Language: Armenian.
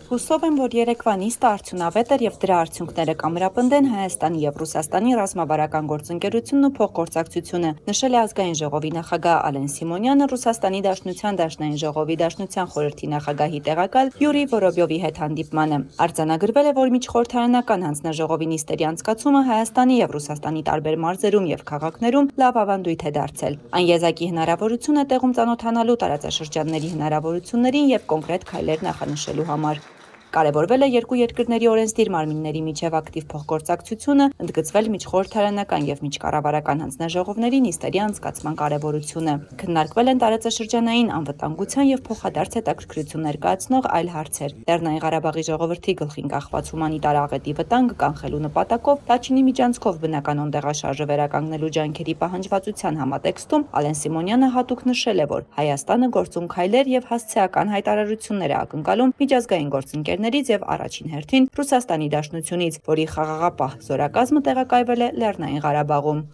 Հուսով եմ, որ երեկվա նիստը արդյունավետ էր եւ դրա արդյունքները կամրապնդեն Հայաստանի եւ Ռուսաստանի ռազմավարական գործընկերությունն ու փոխգործակցությունը, նշել է Ազգային ժողովի նախագահ Ալեն Սիմոնյանը Ռուսաստանի Դաշնության Դաշնային ժողովի Դաշնության խորհրդի նախագահի տեղակալ Յուրի Վորոբյովի հետ հանդիպմանը։ Արձանագրվել է, որ միջխորհրդարանական հանձնաժողովի նիստերի անցկացումը Հայաստանի եւ Ռուսաստանի տարբեր մարզերում եւ քաղաքներում լավ ավանդույթ է դարձել։ Այն եզակի հնարավորություն է տեղում ծանոթանալու տարածաշրջանների հնարավորություններին եւ կոնկրետ քայլեր նախանշելու համար։ Կարևորվել է երկու երկրների օրենսդիր մարմինների միջև ակտիվ փոխգործակցությունը, ընդգծվել միջխորհրդարանական եւ միջկառավարական հանձնաժողովների նիստերի անցկացման կարևորությունը։ Քննարկվել են տարածաշրջանային անվտանգության եւ փոխադարձ հետաքրքրություն ներկայացնող այլ հարցեր։ Լեռնային Ղարաբաղի ժողովրդի գլխին կախված հումանիտար աղետի վտանգը կանխելու նպատակով Լաչինի միջանցքով բնականոն տեղաշարժը վերականգնելու ջանքերի պահանջվածության համատեքստում Ալեն Սիմոնյանը հատուկ նշել է, որ Հայաստանը գործուն քայլեր եւ հասցեական հայտարարություններ է ակնկալում միջազգային գործընկերներից եւ առաջին հերթին Ռուսաստանի Դաշնությունից, որի խաղաղապահ զորակազմը տեղակայվել է Լեռնային Ղարաբաղում։